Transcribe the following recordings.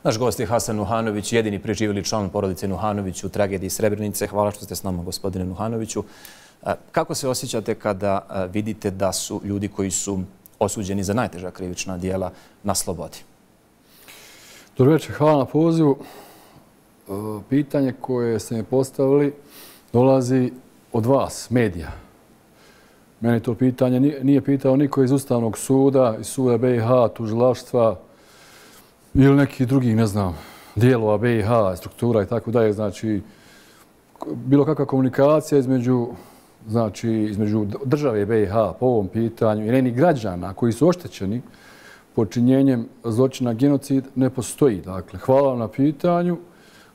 Naš gost je Hasan Nuhanović, jedini preživjeli član porodice Nuhanović u tragediji Srebrenice. Hvala što ste s nama, gospodine Nuhanoviću. Kako se osjećate kada vidite da su ljudi koji su osuđeni za najteža krivična djela na slobodi? Dobro večer, hvala na pozivu. Pitanje koje ste mi postavili dolazi od vas, medija. Meni to pitanje nije pitao niko iz Ustavnog suda, iz suda BiH, tužilaštva ili nekih drugih, ne znam, dijelova BiH, struktura i tako dalje. Znači, bilo kakva komunikacija između države BiH po ovom pitanju i njenih građana koji su oštećeni počinjenjem zločina genocid ne postoji. Dakle, hvala vam na pitanju,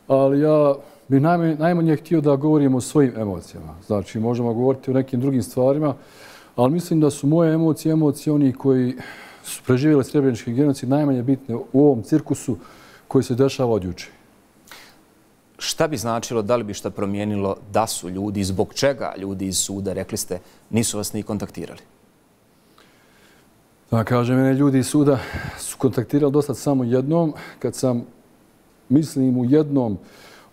ali ja bih najmanje htio da govorimo o svojim emocijama. Znači, možemo govoriti o nekim drugim stvarima, ali mislim da su moje emocije onih koji su preživjeli srebrenički genocid najmanje bitne u ovom cirkusu koji se dešava od juče. Šta bi značilo, da li bi šta promijenilo da su ljudi, zbog čega ljudi iz suda, rekli ste, nisu vas ni kontaktirali? Da kažem, mene ljudi iz suda su kontaktirali do sad samo jednom, kad sam, mislim, u jednom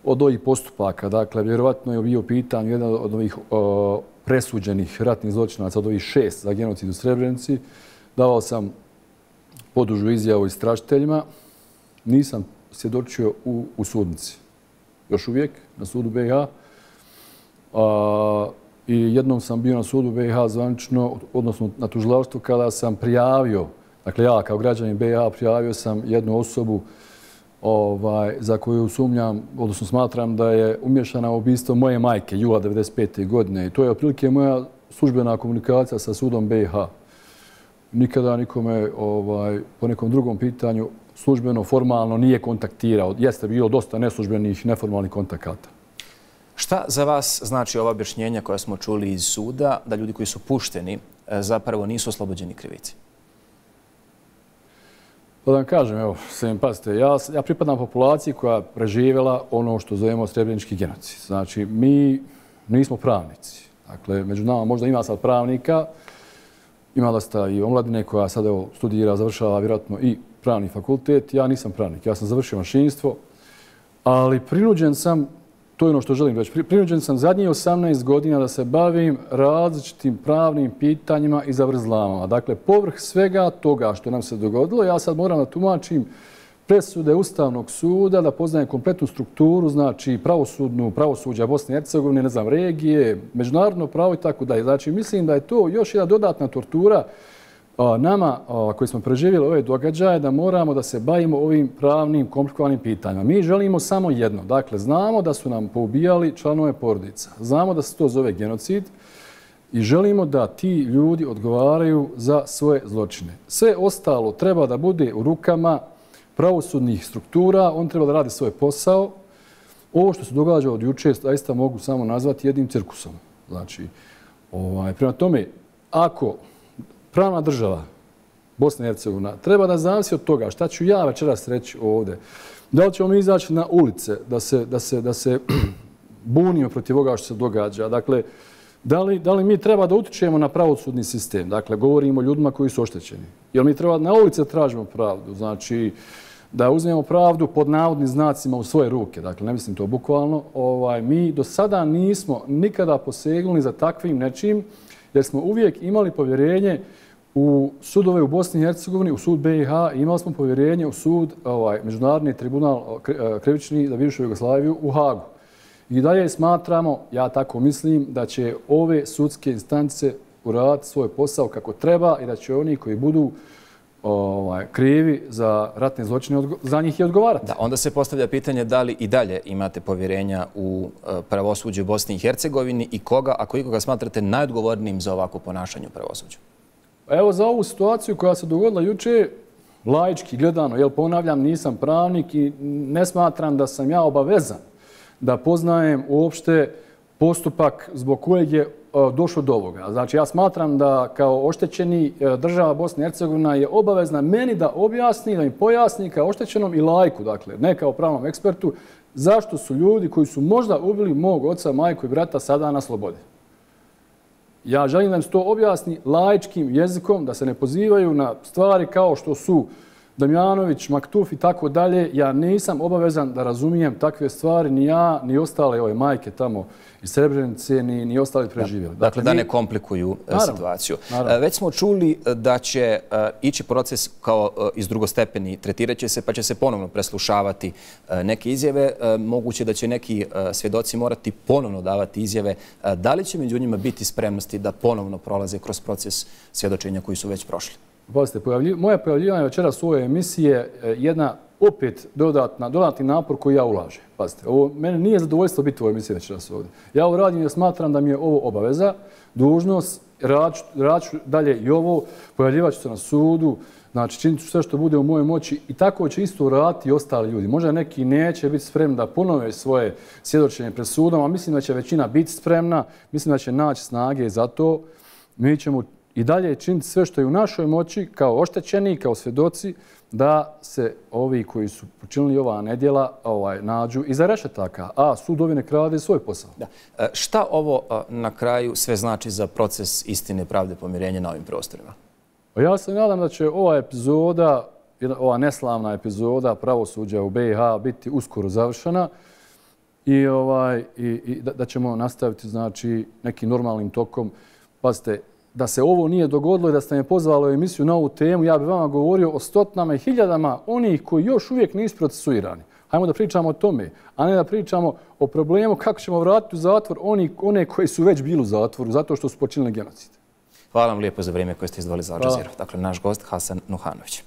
od ovih postupaka, dakle, vjerovatno je bio pitan jedan od ovih presuđenih ratnih zločinaca, od ovih 6 za genocid u Srebrenici. Davao sam podužu izjavu istražiteljima. Nisam svjedočio u sudnici. Još uvijek na sudu BiH. I jednom sam bio na sudu BiH zvanično, odnosno na tužilaštvu, kada sam prijavio, dakle ja kao građanin BiH prijavio sam jednu osobu za koju sumnjam, odnosno smatram da je umješana u ubistvo moje majke jula 1995. godine. I to je otprilike moja službena komunikacija sa sudom BiH. Nikada nikome po nekom drugom pitanju službeno, formalno nije kontaktirao. Jeste bilo dosta neslužbenih, neformalnih kontakata. Šta za vas znači ova objašnjenja koja smo čuli iz suda, da ljudi koji su pušteni zapravo nisu oslobođeni krivice? Pa da vam kažem, evo, pazite, ja pripadam populaciji koja preživjela ono što zovemo srebrenički genocid. Znači, mi nismo pravnici. Dakle, među nama možda ima sad pravnika, ima dosta i omladine koja sad studira, završava vjerojatno i pravni fakultet. Ja nisam pravnik, ja sam završio mašinstvo, ali prinuđen sam, to je ono što želim reći, prinuđen sam zadnjih 18 godina da se bavim različitim pravnim pitanjima i zavrzlamama. Dakle, povrh svega toga što nam se dogodilo, ja sad moram da tumačim presude Ustavnog suda, da poznajem kompletnu strukturu, znači pravosuđa Bosne i Hercegovine, ne znam, regije, međunarodno pravo i tako dalje. Znači, mislim da je to još jedna dodatna tortura nama koji smo preživjeli ove događaje, da moramo da se bavimo ovim pravnim, komplikovanim pitanjima. Mi želimo samo jedno. Dakle, znamo da su nam poubijali članove porodica. Znamo da se to zove genocid i želimo da ti ljudi odgovaraju za svoje zločine. Sve ostalo treba da bude u rukama pravosudnih struktura. On treba da radi svoj posao. Ovo što se događa od juče, zaista mogu samo nazvati jednim cirkusom. Znači, prema tome, ako pravna država Bosna i Hercegovina treba da zavisi od toga šta ću ja večeras reći ovdje. Da li ćemo mi izaći na ulice da se bunimo protiv ovoga što se događa? Dakle, da li mi treba da utičemo na pravosudni sistem? Dakle, govorimo o ljudima koji su oštećeni. Jel mi treba na ulice tražimo pravdu? Znači, da uzmemo pravdu pod navodnim znacima u svoje ruke. Dakle, ne mislim to bukvalno. Mi do sada nismo nikada posegnuli za takvim nečim, jer smo uvijek imali povjerenje u sudove u Bosni i Hercegovini, u sud BiH, imali smo povjerenje u sud, Međunarodni tribunal krivični za bivšu Jugoslaviju u Hagu. I dalje smatramo, ja tako mislim, da će ove sudske instance uraditi svoj posao kako treba i da će oni koji budu krivi za ratne zločine za njih i odgovarati. Da, onda se postavlja pitanje da li i dalje imate povjerenja u pravosuđe u Bosni i Hercegovini i koga, ako ikoga smatrate najodgovornijim za ovako ponašanje u pravosuđu? Evo, za ovu situaciju koja se dogodila juče, laički gledano, ponavljam, nisam pravnik i ne smatram da sam ja obavezan da poznajem uopšte postupak zbog kojeg je došlo do ovoga. Znači, ja smatram da kao oštećeni država Bosna i Hercegovina je obavezna meni da objasni, da mi pojasni kao oštećenom i laiku, dakle, ne kao pravnom ekspertu, zašto su ljudi koji su možda ubili mog oca, majku i brata sada na slobodi. Ja želim da im se to objasni laičkim jezikom, da se ne pozivaju na stvari kao što su Damjanović, Maktuf i tako dalje, ja nisam obavezan da razumijem takve stvari, ni ja, ni ostale ove majke tamo iz Srebrenice, ni ostali preživjeli. Dakle, da ne komplikuju situaciju. Već smo čuli da će ići proces kao iz drugostepeni, tretirat će se pa će se ponovno preslušavati neke izjave. Moguće da će neki svjedoci morati ponovno davati izjave. Da li će među njima biti spremnosti da ponovno prolaze kroz proces svjedočenja koji su već prošli? Pazite, moje pojavljivanje večeras u ovoj emisiji je jedna opet dodatni napor koji ja ulažem. Pazite, ovo mene nije zadovoljstvo biti u ovoj emisiji večeras ovdje. Ja ovo radim jer smatram da mi je ovo obaveza, dužnost, radit ću dalje i ovo, pojavljivat ću se na sudu, znači činit ću sve što bude u mojoj moći i tako će isto raditi i ostali ljudi. Možda neki neće biti spremni da ponove svoje svjedočenje pred sudom, a mislim da će većina biti spremna, mislim da će naći snage za to. Mi ćemo i dalje činiti sve što je u našoj moći, kao oštećeni, kao svjedoci, da se ovi koji su počinili ova nedjela nađu iza rešetaka, a sudovi nek rade svoj posao. Šta ovo na kraju sve znači za proces istine, pravde, pomirenja na ovim prostorima? Ja se nadam da će ova epizoda, ova neslavna epizoda pravosuđa u BiH biti uskoro završena i da ćemo nastaviti znači nekim normalnim tokom. Pazite, da se ovo nije dogodilo i da ste me pozvali u emisiju na ovu temu, ja bih vama govorio o stotinama i hiljadama onih koji još uvijek nisu procesuirani. Hajmo da pričamo o tome, a ne da pričamo o problemu kako ćemo vratiti u zatvor one koji su već bili u zatvoru zato što su počinili genocid. Hvala vam lijepo za vrijeme koje ste izdvojili za Al Jazeera. Dakle, naš gost Hasan Nuhanović.